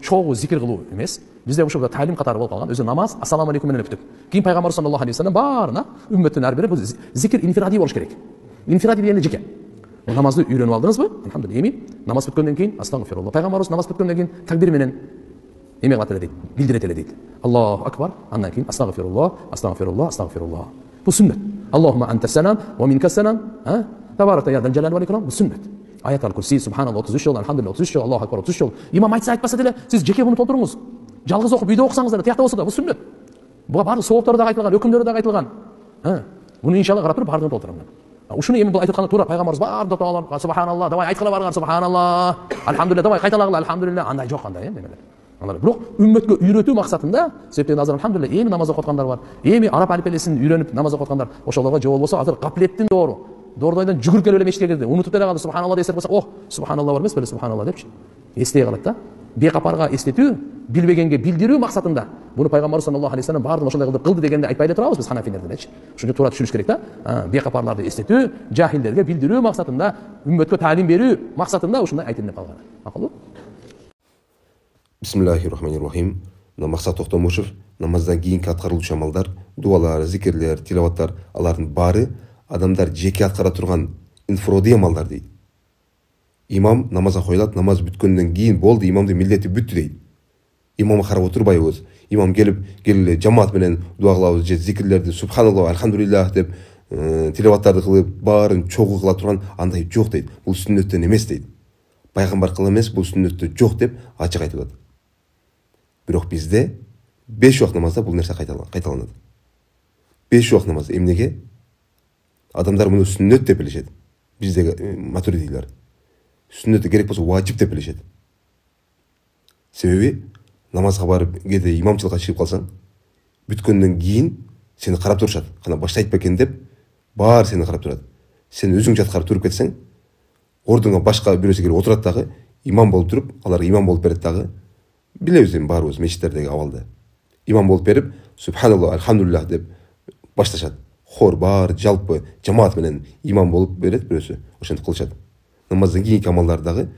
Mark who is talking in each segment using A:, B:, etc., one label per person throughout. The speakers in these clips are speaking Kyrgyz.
A: чогуу зикир кылуу эмес. Бизде ушул талим катары болуп калган. Өзү намаз ассаламу алейкум менен өттүк. Кийин пайгамбар саллаллаху алейхи вассалам баарына үммөттүн ар бири бул зикир инфиради болуш керек. Инфиради дегенде жеке. Намазды үйрөнүп алдыңызбы? Алхамдулилlah. Эми намаз бүткөндөн кийин астагфируллах. Пайгамбарыбыз намаз бүткөндөн кийин такбир менен эме кылат эле дейт. Билдирет эле дейт. Аллаху акбар. Андан кийин астагфируллах, астагфируллах, астагфируллах. Бул сүннөт. Аллахумма антас-салам ва минкас-салам. Табаракта я дал-жалали вал икрам. Бул сүннөт. Аят аль-Курси, субханаллах 33 жолу, алхамдулилlah 33 жолу, Аллаху акбар 33 жолу. Имам айтса айтпаса деле сиз жеке буну толтуруңуз. Жалгыз окуп үйдө окусаңыз деле тиякта болсо да бул сүннөт. Буга баардык сооптор да айтылган, өкүмдөр да айтылган. Буну иншалла карап туруп баардыгын толтурам. Ушуну эми бул айтып атканда туура пайгамбарыбыз баардык дуалар субханаллах, давай айткыла барган субханаллах, алхамдулилlah, давай кайталагыла алхамдулилlah, андай жок андай эмелер. Бирок үммөткө үйрөтүү максатында, себептен азыр алхамдулилlah эми намаз окуп аткандар бар. Эми араб алифбесин үйрөнүп намаз окуп аткандар. Ошолорго же болбосо азыр каплеттин доору. Доордойдон жүгүрүп келип эле мешитке кирди. Унутуп деле калды субханаллах десек болсо, "О, субханаллах бар эмес беле субханаллах" депчи. Эстей калат да. Бекапарга эстетүү, билбегенге билдирүү максатында. Буну пайгамбар саллаллаху алейхи вассалам баардыгын ошондой кылып кылды дегенде айтпай эле турабыз биз ханафилерден эч. Ушуну туура түшүнүш керек да. Бекапарларды эстетүү, жахилдерге билдирүү максатында, үммөткө таалим берүү максатында ушундай айтылып калган. Макулбу?
B: Бисмиллахир-рахманир-рахим. Максат Токтомушев намаздан кийинки аткарылуучу амалдар, дуалар, зикирлер, тилаваттар, алардын баары адамдар жеке аткара турган инфироди амалдар дейт. Имам намазга коюлат, намаз бүткөндөн кийин болду, имамдын милдети бүттү дейт. Имамга карап отурбайбыз. Имам келип жамаат менен дуа кылабыз, же зикирлерди субханаллах, алхамдулиллах деп тилаваттарды кылып, баарын чогуу кыла турган андай жок дейт. Бул сүннөттөн эмес дейт. Пайгамбар кыла эмес, бул сүннөттө жок деп ачык айтып атат. Бирок бизде 5 убакыт намазда бул нерсе кайталанат. 5 убакыт намаз эмнеге? Адамдар муну сүннөт деп билишет. Биздеги матуридилер. Сүннөтү керек болсо важип деп билишет. Себеби намазга барып кээде имамчылыкка чыгып калсаң, бүткөндөн кийин сени карап турушат. Кана баштайт бекен деп баары сени карап турат. Сен өзүң жаткарып туруп кетсең, ордуңа башка бирөөсү келип отурат дагы, имам болуп туруп, аларга имам болуп берет дагы. Билебиз эми баарыбыз мечиттердеги абалды. Имам болуп берип, субханаллах, алхамдулиллах деп башташат. Хор баары жалпы жамаат менен имам болуп берет бирөөсү. Ошентип кылышат. Намаздан кийинки амалдар дагы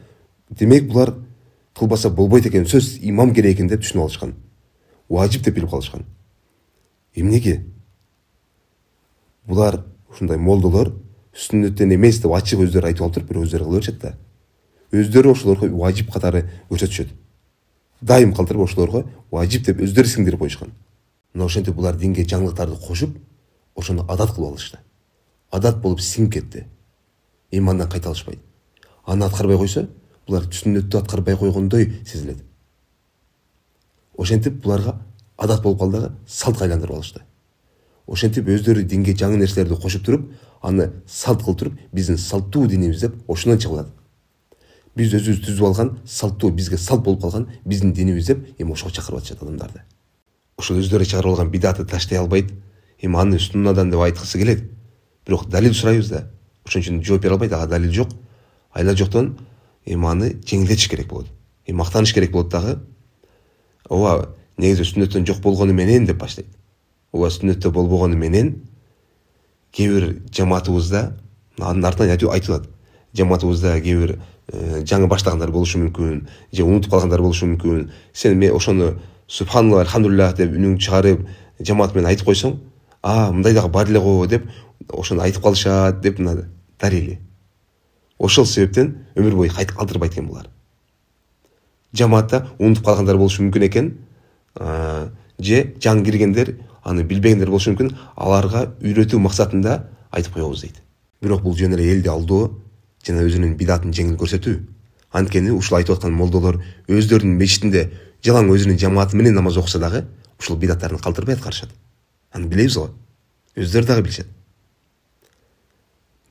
B: демек булар кылбаса болбойт экен, сөз имам керек экен деп түшүнүп алышкан. Важип деп билип калышкан. Эмнеге? Булар ушундай молдолор сүннөттөн эмес деп ачык өздөрү айтып алып туруп, бирок өздөрү кыла беришет да. Өздөрү ошолорго важип катары көрсөтүшөт. Дайым калтырып ошолорго важип деп өздөрү сиңдирип коюшкан. Мына ошентип булар динге жаңылыктарды кошуп, ошону адат кылып алышты. Адат болуп сиңип кетти. Эми андан кайта алышпайт. Аны аткарбай койсо, булар сүннөттү аткарбай койгондой сезилет. Ошентип буларга адат болуп калды дагы салтка айландырып алышты. Ошентип өздөрү динге жаңы нерселерди кошуп туруп, аны салт кылып туруп, биздин салттуу динибиз деп ошондон чыгылат. Биз өзүбүз түзүп алган салттуу, бизге салт болуп калган биздин динибиз деп эми ошого чакырып атышат адамдарды. Ошол өздөрү чыгарып алган бидатты таштай албайт, эми аны суннадан деп айткысы келет. Бирок далил сурайбыз да. Ошон үчүн жооп бере албайт, ага далил жок. Айла жоктон эми аны жеңилдетиш керек болот. Эми мактаныш керек болот дагы. Ооба, негизи сүннөттөн жок болгону менен деп баштайт. Ооба, сүннөттө болбогону менен кээ бир жамаатыбызда анын артынан айтылат. Жамаатыбызда кээ бир жаңы баштагандар болушу мүмкүн, же унутуп калгандар болушу мүмкүн. Сен ошону субханаллах, алхамдулиллах деп үнүң чыгарып, жамаат менен айтып койсоң, мындай дагы бар эле го деп ошону айтып калышат деп мына далили. Ошол себептен өмүр бою калтырбайт экен булар. Жамаатта унутуп калгандар болушу мүмкүн экен, же жаңы киргендер, аны билбегендер болушу мүмкүн, аларга үйрөтүү максатында айтып коебуз дейт. Бирок бул жөн эле элди алдоо жана өзүнүн бидатын жеңил көрсөтүү. Анткени ушул айтып аткан молдолор өздөрүнүн мечитинде жалаң өзүнүн жамааты менен намаз окуса дагы ушул бидаттарын калтырбай аткарышат. Аны билебиз го. Өздөрү дагы билишет.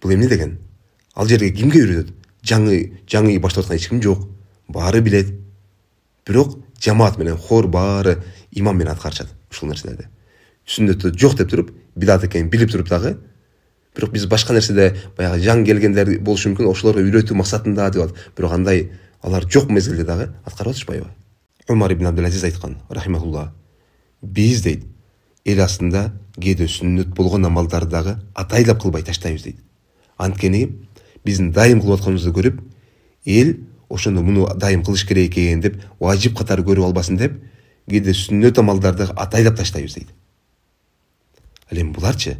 B: Бул эмне деген? Ал жерге кимге үйрөтөт? Жаңы баштап аткан эч ким жок. Баары билет. Бирок жамаат менен хор баары имам менен аткарышат ушул нерселерди. Сүннөттө жок деп туруп, бидат экенин билип туруп дагы, бирок биз башка нерседе баягы жаңы келгендер болушу мүмкүн, ошолорго үйрөтүү максатында деп атат. Бирок андай алар жок мезгилде дагы аткарып атышпайбы? Умар ибн Абдул-Азиз айткан, рахимахулла, биз дейт, эл астында кээде сүннөт болгон амалдарды дагы атайлап кылбай таштайбыз дейт. Анткени биздин дайым кылып атканыбызды көрүп, эл ошондо муну дайым кылыш керек экен деп важип катары көрүп албасын деп кээде сүннөт амалдарды атайлап таштайбыз дейт. Ал эми буларчы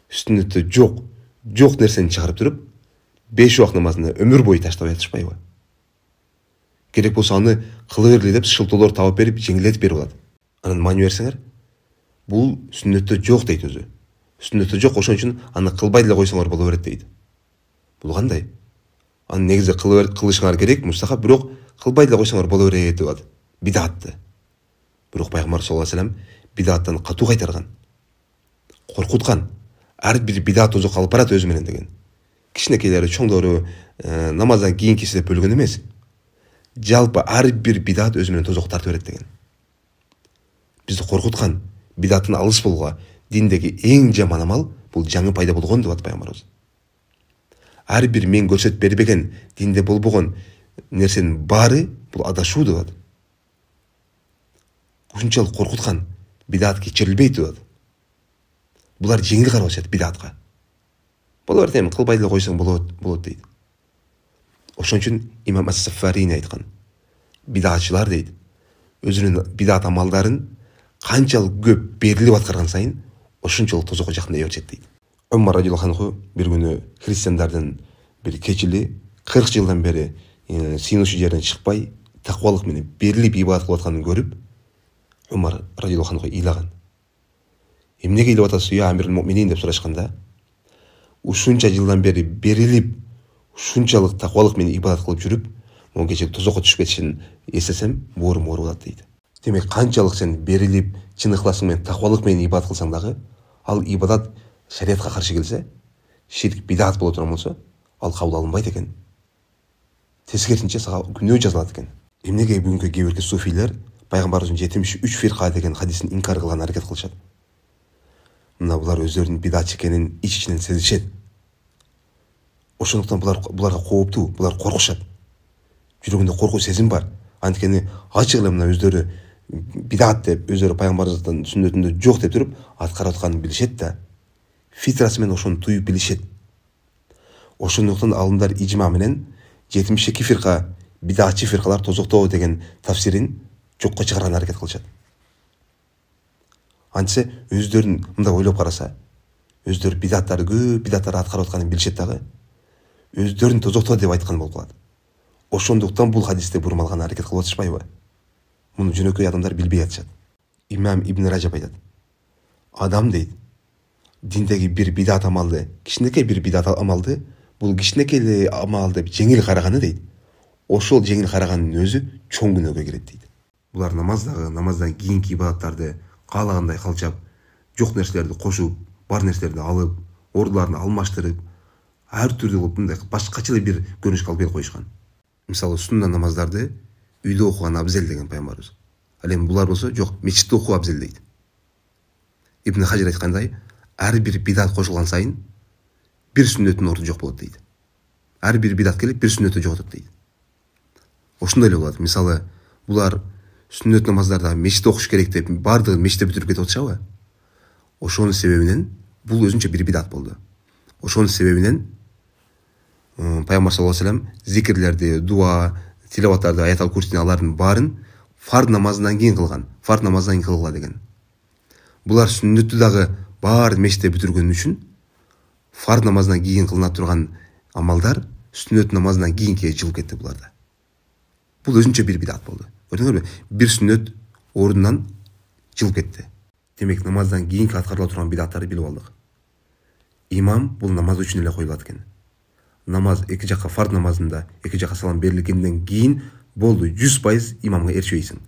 B: сүннөттө жок нерсени чыгарып туруп 5 убак намазына өмүр бою таштап жатышпайбы? Керек болсо аны кыла берли деп шылтоолор табып берип жеңилдетип берип алат. Анан маани берсеңер, бул сүннөттө жок дейт өзү. Сүннөттө жок, ошон үчүн аны кылбай деле койсоңор боло берет дейт. Бул кандай? Аны негизи кылышыңар керек, мустахап, бирок кылбай деле койсоңор боло берет деп атат. Бидатты. Бирок пайгамбар саллаллаху алейхи вассалам бидаттан катуу кайтарган. Коркуткан. Ар бир бидат тозокко алып барат өзү менен деген. Кичинекейлери, чоңдору намаздан кийинкиси деп бөлгөн эмес. Жалпы ар бир бидат өзү менен тозокко тартып берет деген. Бизди коркуткан, бидаттан алыс болууга диндеги эң жаман амал бул жаңы пайда болгон деп атат пайгамбарыбыз. Ар бир мен көрсөтүп бербеген, динде болбогон нерсенин баары бул адашуу деп атат. Ушунчалык коркуткан, бидат кечирилбейт деп атат. Булар жеңил карабашат бидатка. Боло берет, эми кылбай деле койсоң болот дейт. Ошон үчүн имам ас-Сафарини айткан. Бидатчылар дейт, өзүнүн бидат амалдарын канчалык көп берилип аткарган сайын ошончолук тозокко жакындай беришет дейт. Умар радиаллаху анху бир күнү христиандардын бир кечили 40 жылдан бери сыйынуучу жерден чыкпай, таквалык менен берилип ибадат кылып атканын көрүп, Умар радиаллаху анху ыйлаган. Эмнеге ыйлап атасыз я амирул муъминин деп сурашканда, ушунча жылдан бери берилип, ушунчалык таквалык менен ибадат кылып жүрүп, могу кече тозокко түшүп кетишин эстесем, боорум ооруп дейт. Демек канчалык сен берилип, чын ыхласың менен таквалык менен ибадат кылсаң дагы, ал ибадат шариатка каршы келсе, ширк бидат боло турган болсо, ал кабыл алынбайт экен. Тескерисинче сага күнөө жазылат экен. Эмнеге бүгүнкү кээ бирки суфийлер пайгамбарыбыздын 73 фирка деген хадисин инкар кылган аракет кылышат. Мына булар өздөрүнүн бидатчы экенин ич-ичинен сезишет. Ошондуктан буларга кооптуу, булар коркушат. Жүрөгүндө коркуу сезим бар. Анткени ачык эле мына өздөрү бидат деп, өздөрү пайгамбарыбыздын сүннөтүндө жок деп туруп аткарып атканын билишет да, фитрасы менен ошону туюп билишет. Ошондуктан алымдар ижма менен 72 фирка бидатчы фиркалар тозокто деген тафсирин жокко чыгарган аракет кылышат. Антсе өздөрүн мындай ойлоп караса, өздөрү бидаттарды көп бидаттарды аткарып атканын билишет дагы, өздөрүн тозокто деп айткан болуп калат. Ошондуктан бул хадисте бурмалган аракет кылып атышпайбы? Муну жөнөкөй адамдар билбей атышат. Имам Ибн Ражаб айтат. Адам дейт, диндеги бир бидат амалды, кичинекей бир бидат амалды, бул кичинекей амал деп жеңил караганы дейт. Ошол жеңил караганын өзү чоң күнөөгө кирет дейт. Булар намаздан кийинки ибадаттарды каалагандай калчап, жок нерселерди кошуп, бар нерселерди алып, ордуларын алмаштырып, ар түрдүү кылып мындай башкача бир көрүнүшкө алып келип коюшкан. Мисалы сунна намаздарды үйдө окуган абзел деген пайгамбарыбыз. Ал эми булар болсо жок, мечитте окуу абзел дейт. Ибн Хажир айткандай, ар бир бидат кошулган сайын бир сүннөттүн орду жок болот дейт. Ар бир бидат келип бир сүннөттү жоготот дейт. Ошондой эле болот. Мисалы, булар сүннөт намаздарда мечитте окуш керек деп баардыгын мечитте бүтүрүп кетип атышабы? Ошонун себебинен бул өзүнчө бир бидат болду. Ошонун себебинен пайгамбар саллаллаху алейхи вассалам зикирлерди, дуа, тилаваттарды, аятал курсини алардын баарын фард намазынан кийин кылган. Фард намаздан кийин кылгыла деген. Булар сүннөттү дагы баарын мечитте бүтүргөн үчүн фард намазынан кийин кылына турган амалдар сүннөт намазынан кийинки жылып кетти буларда. Бул өзүнчө бир бидат болду. Көрдүңөрбү? Бир сүннөт ордунан жылып кетти. Демек намаздан кийинки аткарыла турган бидаттарды билип алдык. Имам бул намаз үчүн эле коюлат экен. Намаз эки жакка фард намазында эки жакка салам берилгенден кийин болду 100% имамга эришпейсиң.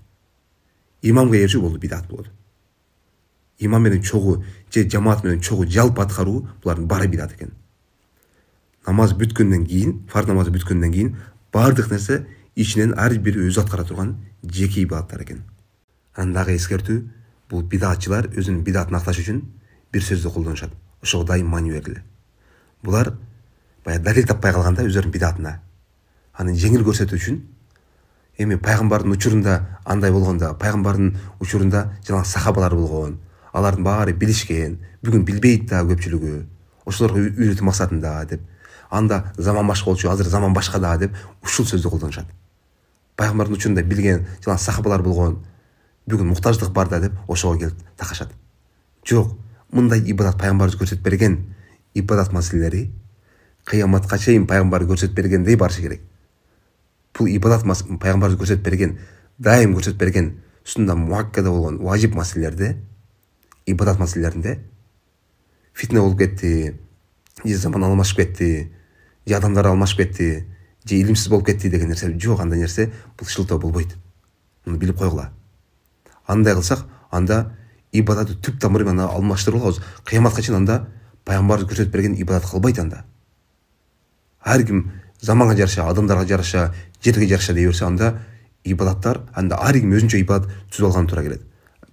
B: Имамга эришүү болду бидат болду. Имам менен чогуу же жамаат менен чогуу жалпы аткаруу булардын баары бидат экен. Намаз бүткөндөн кийин, фард намазы бүткөндөн кийин баардык нерсе ичинен ар бири өзү аткара турган жеке ибадаттар экен. Анан дагы эскертүү, бул бидатчылар өзүнүн бидатын акташ үчүн бир сөздү колдонушат. Ошого дайым маани бериле. Булар баягы далил таппай калганда өздөрүнүн бидатына аны жеңил көрсөтүү үчүн эми пайгамбардын учурунда андай болгондо, пайгамбардын учурунда жана сахабалар болгон, алардын баары билишкен, бүгүн билбейт да көпчүлүгү. Ошолорго үйрөтүү максатында деп анда заман башка болчу, азыр заман башка да деп ушул сөздү колдонушат. Пайгамбардын учурунда билген жана сахабалар болгон, бүгүн муктаждык бар да деп ошого келип такашат. Жок, мындай ибадат пайгамбарыбыз көрсөтүп берген ибадат маселелери кыяматка чейин пайгамбар көрсөтүп бергендей барышы керек. Бул ибадат пайгамбарыбыз көрсөтүп берген, дайым көрсөтүп берген сунна муаккада болгон важип маселелерде, ибадат маселелеринде фитне болуп кетти, же заман алмашып кетти, же адамдар алмашып кетти, же илимсиз болуп кетти деген нерсе жок. Андай нерсе бул шылтоо болбойт. Муну билип койгула. Андай кылсак, анда ибадатты түп тамыры менен алмаштырып алабыз. Кыяматка чейин анда пайгамбарыбыз көрсөтүп берген ибадат калбайт анда. Ар ким заманга жараша, адамдарга жараша, жерге жараша дей берсе, анда ибадаттар, анда ар ким өзүнчө ибадат түзүп алган туура келет.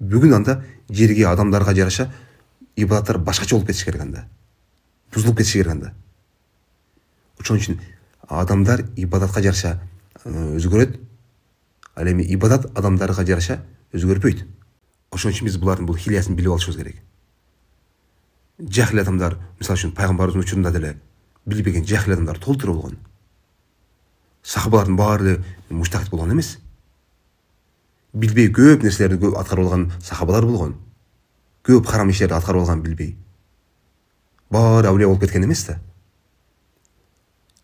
B: Бүгүн анда жерге, адамдарга жараша ибадаттар башкача болуп кетиш керек анда. Бузулуп кетиш керек анда. Ошон үчүн адамдар ибадатка жараша өзгөрөт, ал эми ибадат адамдарга жараша өзгөрбөйт. Ошон үчүн биз булардын бул хилиясын билип алышыбыз керек. Жахил адамдар, мисалы үчүн пайгамбарыбыздын учурунда деле билбеген жахил адамдар толтура болгон. Сахабалардын баары муштахид болгон эмес. Билбей көп нерселерди көп аткарып алган сахабалар болгон. Көп харам иштерди аткарып алган билбей. Баары авлия болуп кеткен эмес да.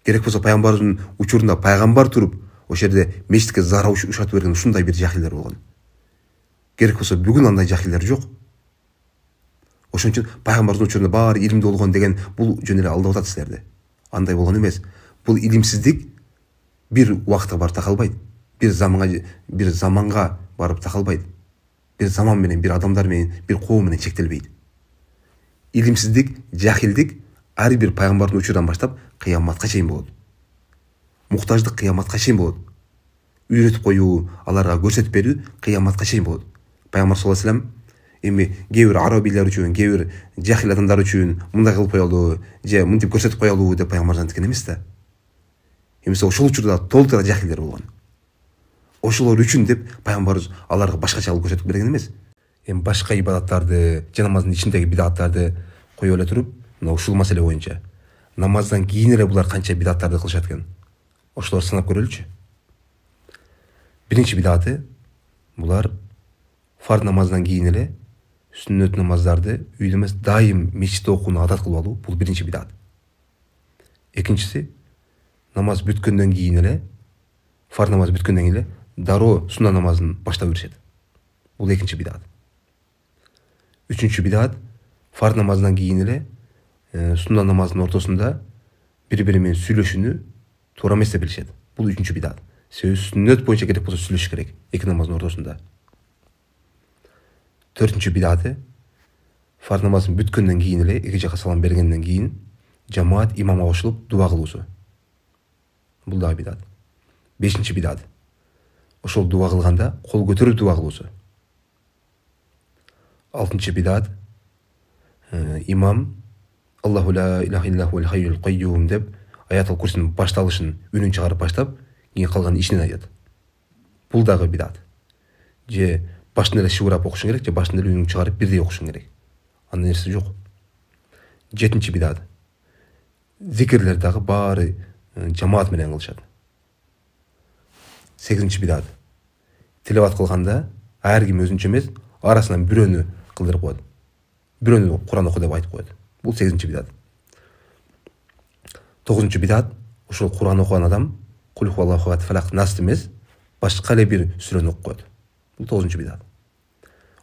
B: Керек болсо пайгамбарыбыздын учурунда пайгамбар туруп, ошол жерде мечитке зара ушатып берген ушундай бир жахилдер болгон. Керек болсо бүгүн андай жахилдер жок. Ошон үчүн пайгамбардын учурунда баары илимдүү болгон деген бул жөн эле алдап атат силерди. Андай болгон эмес. Бул илимсиздик бир убакытка барып такалбайт. Бир заманга барып такалбайт. Бир заман менен, бир адамдар менен, бир коом менен чектелбейт. Илимсиздик, жахилдик ар бир пайгамбардын учурунан баштап кыяматка чейин болот. Муктаждык кыяматка чейин болот. Үйрөтүп коюу, аларга көрсөтүп берүү кыяматка чейин болот. Пайгамбар саллаллаху алейхи вассалам эми кээ бир арабилер үчүн, кээ бир жахил адамдар үчүн мындай кылып коелу, же мынтип көрсөтүп коелу деп пайгамбардан айткен эмес да. Эмесе ошол учурда толтура жахилдер болгон. Ошолор үчүн деп пайгамбарыбыз аларга башкача кылып көрсөтүп берген эмес. Эми башка ибадаттарды, же намаздын ичиндеги бидаттарды коюп эле туруп, мына ушул маселе боюнча намаздан кийин эле булар канча бидаттарды кылышат экен. Ошолорду санап көрөлүчү. Биринчи бидаты булар фарз намаздан кийин эле сүннөт намаздарды үйдө эмес, дайым мечитте окууну адат кылып алуу, бул биринчи бидат. Экинчиси, намаз бүткөндөн кийин эле, фарз намаз бүткөндөн кийин эле дароо сунна намазын баштап беришет. Бул экинчи бидат. Үчүнчү бидат, фарз намаздан кийин эле сунна намазынын ортосунда бири-бири менен сүйлөшүүнү туура эмес деп билишет. Бул үчүнчү бидат. Себеби сүннөт боюнча керек болсо сүйлөшүш керек эки намаздын ортосунда. Төртүнчү бидаты, фарз намазын бүткөндөн кийин эле, эки жака салам бергенден кийин жамаат имамга кошулуп дуа кылуусу. Бул дагы бидат. Бешинчи бидат, ошол дуа кылганда кол көтөрүп дуа кылуусу. Алтынчы бидат, имам Аллаху ла илаха иллаху вал хайюл кайюм деп аятул курсинин башталышын үнүн чыгарып баштап, кийин калган ичинен айтат. Бул дагы бидат. Же башында эле шыбырап окушуң керек, же башында эле үнүң чыгарып бирдей окушуң керек. Андай нерсе жок. Жетинчи бидат. Зикирлер дагы баары жамаат менен кылышат. Сегизинчи бидат. Тилават кылганда ар ким өзүнчө эмес, арасынан бирөөнү кылдырып коет. Бирөөнү Куран оку деп айтып коет. Бул сегизинчи бидат. Тогузунчу бидат, ошол Куран окуган адам Кул хуаллаху ахад фалак нас эмес, башка эле бир сүрөнү окуп коет. Бул тогузунчу бидат.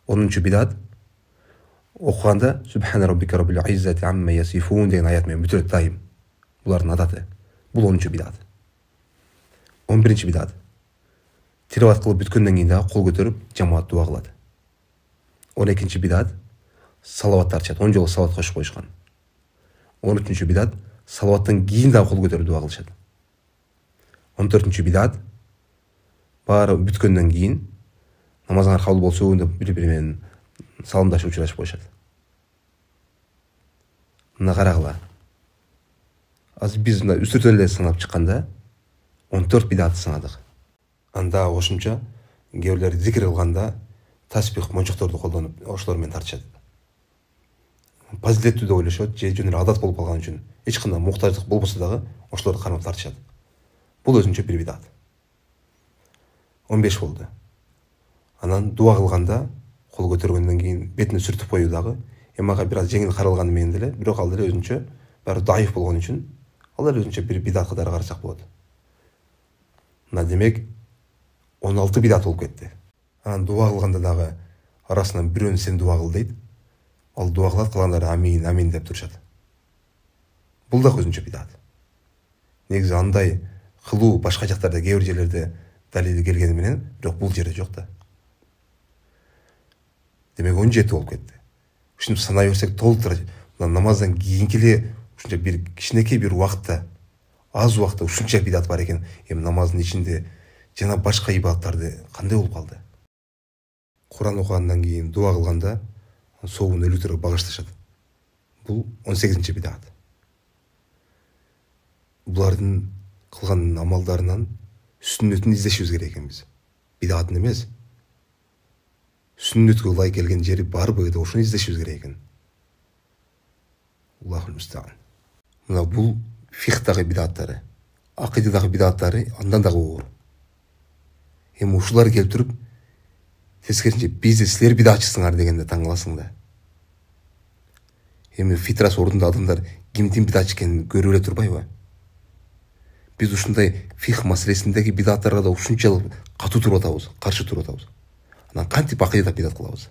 B: Онунчу бидат, окуганда Субхана роббика роббил иззати амма ясифун деген аят менен бүтөт дайым. Булардын адаты. Бул 10-чу бидат. 11-чи бидат. Тилават кылып бүткөндөн кийин дагы кол көтөрүп жамаат дуа кылат. 12-чи бидат. Салаваттар чат. 10 жолу салават кошуп коюшкан. 13-чү бидат. Салаваттан кийин дагы кол көтөрүп дуа кылышат. 14-чү бидат. Баары бүткөндөн кийин намазыңар кабыл болсун деп бири-бири менен саламдашып учурашып коюшат. Мына карагыла. Азыр биз мына үстүртөн эле санап чыкканда 14 бидатты санадык. Анда кошумча кээ бирлер зикир кылганда таспих мончокторду колдонуп ошолор менен тартышат. фазилеттүү деп ойлошот, же жөн эле адат болуп калган үчүн эч кандай муктаждык болбосо дагы ошолорду кармап тартышат. Бул өзүнчө бир бидат. 15 болду. Анан дуа кылганда кол көтөргөндөн кийин бетине сүртүп коюу дагы мага бир аз жеңил каралганы менен деле, бирок ал деле өзүнчө баары дайыф болгон үчүн ал деле өзүнчө бир бидат катары карасак болот. Мына демек 16 бидат болуп кетти. Анан дуа кылганда дагы арасынан бирөөнү сен дуа кыл дейт. Ал дуа кылат, калгандары амин, амин деп турушат. Бул дагы өзүнчө бидат. Негизи андай кылуу башка жактарда, кээ бир жерлерде далили келгени менен, бирок бул жерде жок да. Демек 17 болуп кетти. Ушинтип санай берсек толтура намаздан кийинки эле ушунча бир кичинекей бир убакытта, аз убакытта ушунча бидат бар экен. Эми намаздын ичинде жана башка ибадаттарды кандай болуп калды? Куран окугандан кийин дуа кылганда соогун өлүктөргө багышташат. Бул 18 бидат. Булардын кылган амалдарынан сүннөтүн издешибиз керек экен биз. Бидатын эмес. Сүннөткө ылайык келген жери барбы деп ошону издешибиз керек экен. Аллахул мустаан. Мына бул фихтагы бидаттары, акыйдадагы бидаттары андан дагы оор. Эми ушулар келип туруп, тескерисинче бизде силер бидатчысыңар дегенде таң каласың да. Эми фитрасы ордунда адамдар кимдин бидатчы экенин көрүп эле турбайбы? Биз ушундай фих маселесиндеги бидаттарга да ушунчалык катуу туруп атабыз, каршы туруп атабыз. Анан кантип акыйдада бидат кылабыз?